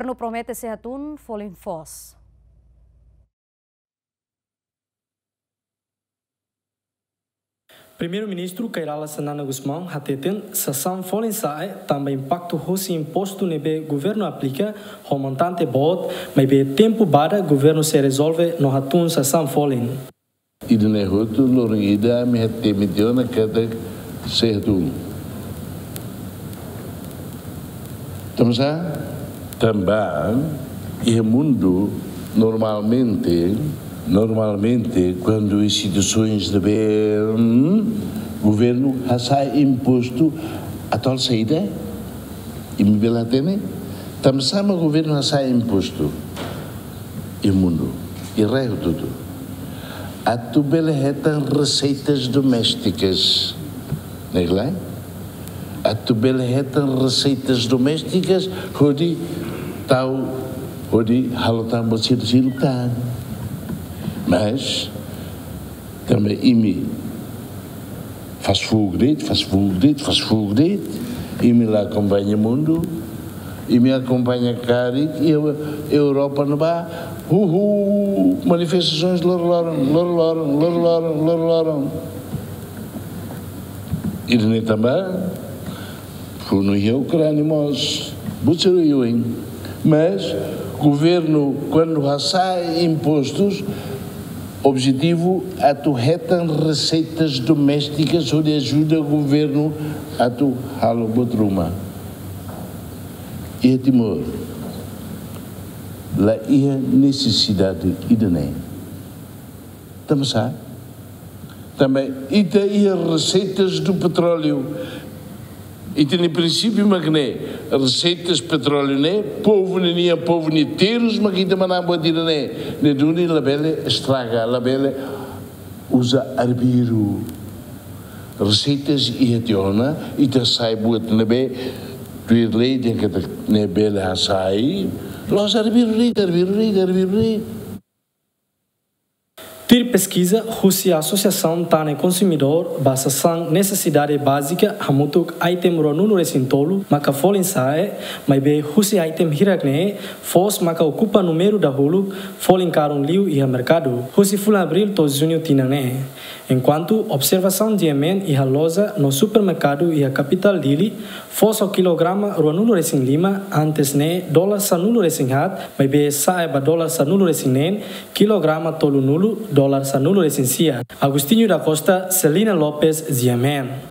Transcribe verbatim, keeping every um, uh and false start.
Governu promete sei hatún folin foos. Primeiru-Ministru Kay Rala Xanana Gusmão hateten sasán folin sa'e tanba impaktu hosi impostu ne'ebé governu aplika ho montante boot, maibé tempu badak governu sei rezolve no hatún sasán folin. Ida-ne'e hotu loron ida ami hatene tiha ona katak sei hatún. Tanbasá? Tanba iha mundu normalmente, normalmente kuandu instituisoens ne'ebé, hmm, governu hasa'e impostu atuál saida? Imi bele hatene? Tanbasá mak governu hasa'e impostu iha mundu, iha rai hotu-hotu? Atu bele hetan reseitas domésticas. Ne'e ka lae? Atu bele hetan reseitas domésticas hodi tau, hodi halo tan buat seluk-seluk tan. Mas tanba imi fast food, fast food, fast food, imi la akompaña mundu, imi akompaña karik iha Europa ne'ebá, huhu, manifestasoens loron-loron, loron-loron, loron-loron, loron-loron. Ida-ne'e tanba funu iha Ukránia mós, buat sira oioin. Mas governu kuandu hasa'e impostus, objetivu atu hetan reseitas domésticas hodi ajuda governu atu halo buat ruma. Iha Timor la iha nesesidade ida-ne'e. Tanbasá? Tanba ita iha reseitas do petróleo. Ita-nia prinsípiu mak ne'e, reseitas petróleu ne'e, povu ninian, povu nia terus mak ita manán buat ida-ne'e. Ne'e duni labele estraga, labele uza arbiru. Reseitas iha tiha ona, ita hasa'e buat ne'ebé tuir lei dehan katak ne'e bele hasa'e, la'ós arbiru de'it, arbiru de'it, arbiru de'it. Tuir peskiza husi Asosiasaun Tan no Konsumidór ba sasán nesesidade bázika hamutuk item ruanulu-resin-tolu maka folin sa'e, maibé husi item hirak-ne'e foos maka okupa númeru dahuluk folin karun liu iha merkadu husi fulan Abríl to'o Juñu tinan ne'e. Enkuantu observasaun GMN iha loja no supermerkadu iha kapitál Dili, foos ho kilograma ruanulu-resin-lima, antes ne'e dolar sanulu-resin-haat, maibé sa'e ba dolar sanulu-resin-neen, kilograma tolunulu, dolar sanulu-resin-sia. Agostinho da Costa, Celina Lopes, GMN.